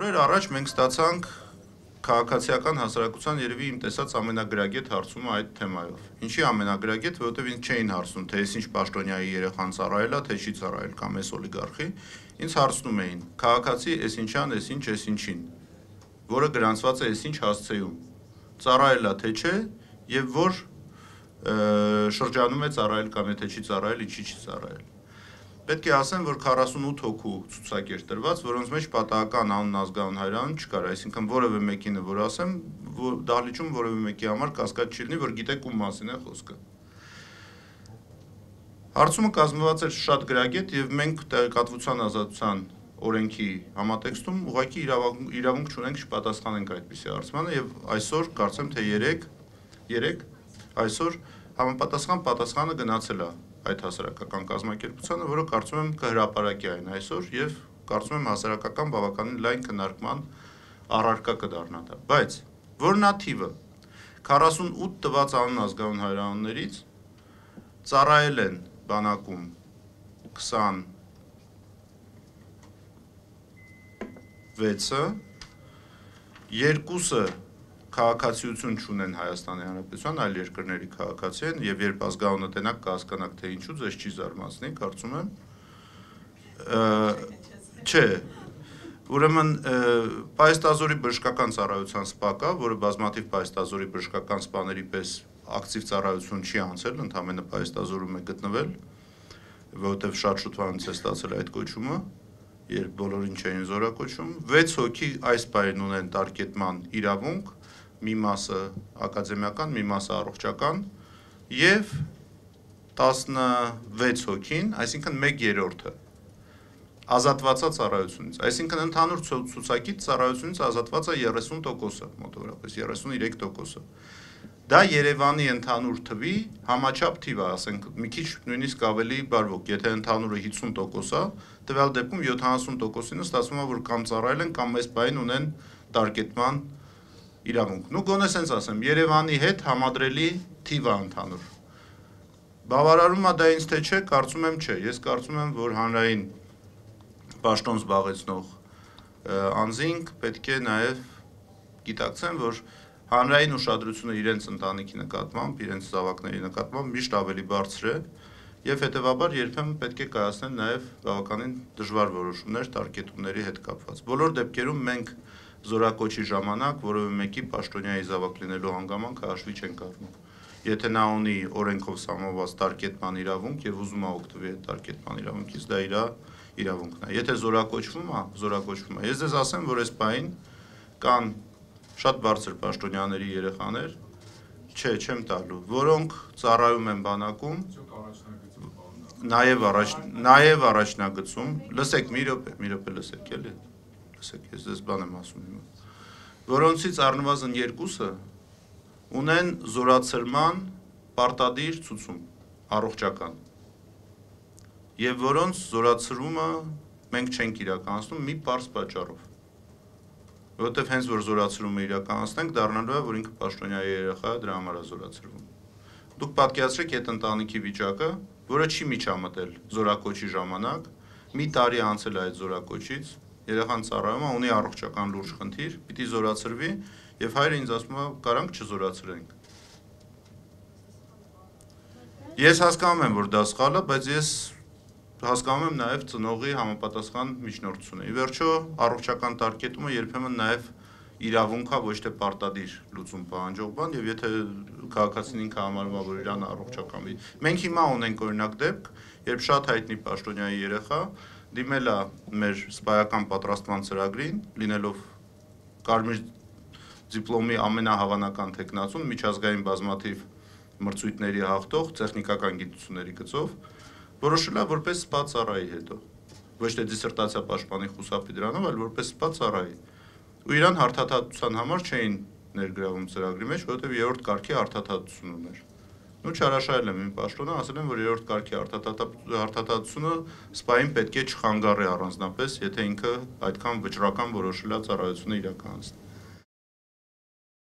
օրեր առաջ մենք ստացանք քաղաքացիական հասարակության երևի իմ տեսած ամենագրագետ հարցումը այդ թեմայով։ Ինչի ամենագրագետ, որովհետև ինձ չէին հարցնում, թե ես ինչ պաշտոնյայի երեխան ծառայել է, թե չի ծառայել կամ էս օլիգարխի, ինձ հարցնում էին. քաղաքացի էս ինչան, էս ինչ, էս ինչին, որը գրանցված է էս ինչ հասցեում, ծառայել է թե չէ, եւ որ շրջանում է ծառայել կամ եթե չի ծառայել, ինչի չի ծառայել։ Պետք է ասեմ, որ 48 հոգու ցուցակ էր տրված, որոնց մեջ պատահական անուն ազգանուն հայրան չկար, այսինքն որևէ մեկինը, որ ասեմ, որ դահլիճում որևէ մեկի համար կասկած չի լինի, որ գիտեք ում մասին է խոսքը։ Հարցումը կազմված էր շատ գրագետ եւ մենք տեղեկատվության ազատության օրենքի համատեքստում ուղղակի իրավունք չունենք չպատասխանենք այդպիսի հարցմանը եւ այսօր կարծեմ թե 3 այսօր համապատասխան պատասխանը գնացել է այդ հասարակական կազմակերպությանը, որը կարծում եմ կհրապարակի այն այսօր եւ կարծում եմ հասարակական բավականին լայն քննարկման առարկա կդառնա դա, բայց որն է թիվը 48 տված անուն ազգանուն հայրաններից ծառայել են բանակում 26-ը, երկուսը քաղաքացիություն չունեն Հայաստանի Հանրապետության, այլ երկրների քաղաքացի են, եւ երբ ազգանունը տենակ կհասկանաք թե ինչու, ձեզ չի զարմացնի, կարծում եմ։ Չէ, ուրեմն պայստազորի բժշկական ծառայության սպա կա, որը բազմաթիվ պայստազորի բժշկական սպաների պես ակտիվ ծառայություն չի անցել, ընդհանրապես պայստազորում է գտնվել, որովհետեւ շատ շուտ անց է ստացել այդ կոչումը, երբ բոլորին չէին զորակոչում, 6 հոգի այս պահին ունեն տարկետման իրավունք, մի մասը ակադեմիական, մի մասը առողջական եւ 16 հոգին, այսինքն 1/3-ը ազատված է ծառայությունից, այսինքն ընդհանուր ցուցակից ծառայությունից ազատված է 30%-ը, մոտավորապես 33%-ը։ Դա Երևանի ընդհանուր թվի համաչափ թիվ է, ասենք մի քիչ նույնիսկ ավելի բարվոք, եթե ընդհանուրը 50% է, տվյալ դեպքում 70%-ին ստացվում է, որ կամ ծառայել են, կամ այս բային ունեն տարկետման իրավունք։ Նու գոնե սենց ասեմ, Երևանի հետ համադրելի թիվ է ընդհանուր։ Բավարարում է դա ինձ թե չէ, կարծում եմ չէ։ Ես կարծում եմ, որ հանրային պաշտոն զբաղեցնող անձինք պետք է նաև գիտակցեն, որ հանրային ուշադրությունը իրենց ընտանիքի նկատմամբ, իրենց զավակների նկատմամբ միշտ ավելի բարձր է եւ հետեւաբար երբեմն պետք է կայացնել նաեւ բավականին դժվար որոշումներ տարկետումների հետ կապված։ Բոլոր դեպքերում մենք զորակոչի ժամանակ որևէ մեկի պաշտոնյայի զավակ լինելու հանգամանքը հաշվի չենք առնում։ Եթե նա ունի օրենքով սահմանված տարկետման իրավունք եւ ուզում է օգտվել այդ տարկետման իրավունքից, դա իր իրավունքն է։ Եթե զորակոչվում է։ Ես ձեզ ասեմ, որ այս պահին կան շատ բարձր պաշտոնյաների երեխաներ, չեմ տալու, որոնք ծառայում են բանակում, նաև առաջնագծում, լսեք, մի րոպե լսեք, էլի, լսեք, ես ձեզ բան եմ ասում հիմա, որոնցից առնվազն երկուսը ունեն զորացրման պարտադիր ցուցում, առողջական, եւ որոնց զորացրումը մենք չենք իրականացնում մի պարզ պատճառով, որովհետև հենց որ զորացրումը իրականացնենք, դառնալու է, որ ինքը պաշտոնյայի երեխա է, դրա համար է զորացրվում։ Դուք պատկերացրեք այդ ընտանիքի վիճակը, որը չի միջամտել զորակոչի ժամանակ, մի տարի անցել է այդ զորակոչից, երեխան ծառայում է, ունի առողջական լուրջ խնդիր, պիտի զորացրվի, եւ հայրը ինձ ասում է, կարանք չզորացրենք։ Ես հասկանում եմ, որ դա սխալ է, բայց ես հասկանում եմ նաև ծնողի համապատասխան միջնորդությունը։ Ի վերջո, առողջական տարկետումը երբեմն նաև իրավունք է, ոչ թե պարտադիր լուծում պահանջող բան, եւ եթե քաղաքացին ինքը համարում է, որ իրան առողջական։ Մենք հիմա ունենք օրինակ դեպք, երբ շատ հայտնի պաշտոնյայի երեխա դիմել է մեր սպայական պատրաստման ծրագրին, լինելով կարմիր դիպլոմի ամենահավանական տեխնացուն, միջազգային բազմաթիվ մրցույթների հաղթող, տեխնիկական գիտությունների գծով, որոշել է որպես սպա ծառայի հետո, ոչ թե դիսերտացիա պաշտպանի խուսափի դրանով, այլ որպես սպա ծառայի։ Ու իրան հարթաթատության համար չէին ներգրավում ծրագրի մեջ, որովհետև երրորդ կարգի հարթաթատություն ուներ։ Ու չհրաշայել եմ իմ պաշտոնը, ասել եմ, որ երրորդ կարգի հարթաթատությունը սպային պետք է չխանգարի առանձնապես, եթե ինքը այդքան վճռական որոշել է ծառայությունը իրականացնել։